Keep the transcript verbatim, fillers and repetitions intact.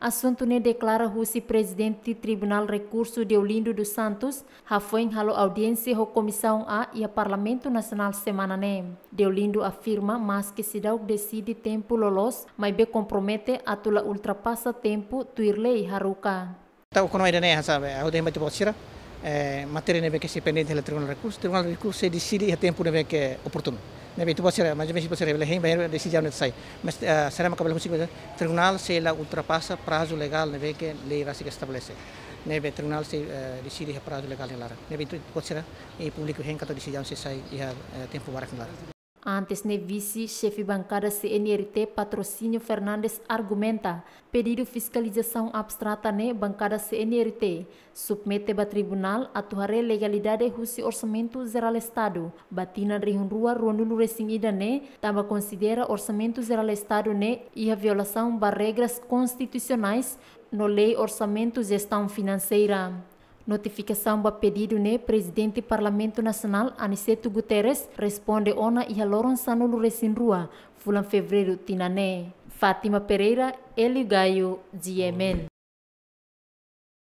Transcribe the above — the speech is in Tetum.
Asuntu ne'e deklara husi Prezidente Tribunál Rekursu, Deolindo dos Santos, hafoin halo audiénsia ho Komisaun A iha Parlamentu Nasionál semana ne'e. Deolindo afirma maske seidauk deside tempu loloos, maibé kompromete atu la ultrapasa tempu tuir lei haruka. Entaun, kono ida-ne'e hanesan, eh, ha'u dehan ba ita-boot sira, eh, matéria ne'ebé ke sei pendente iha Tribunál Rekursu, Tribunál Rekursu sei deside iha tempu ne'ebé ke oportunu. Ne'ebé ita-boot sira, mais ou menus ita-boot sira bele hein, ba desizaun ne'e sai. Mas, eh, sira mak bele husik, Tribunál sei la ultrapasa prazu legál ne'ebé ke lei rasik estabelese. Ne'ebé Tribunál sei, eh, deside iha prazu legál nia laran. Ne'ebé ita-boot sira, i públiku hein katak desizaun sei sai iha, eh, tempu barak nia laran. Antes ne'e, Vise-Xefe Bankada C N R T, Patrocínio Fernandes, argumenta pedidu fiskalizasaun abstrata ne'e bankada C N R T submete ba tribunál atu haree legalidade husi Orsamentu Jerál Estadu ba tinan rihun rua ruanulu resin ida ne'e, tanba konsidera Orsamentu Jerál Estadu ne'e iha violasaun ba regras konstitusionais no Lei Orsamentu Jestaun Finanseira. Notifikasaun ba pedidu ne'e Prezidente Parlamentu Nasionál, Aniceto Guterres, responde ona iha loron sanulu resin rua fulan Fevereiru tinan ne'e. Fátima Pereira, Hélio Gaio, G M N.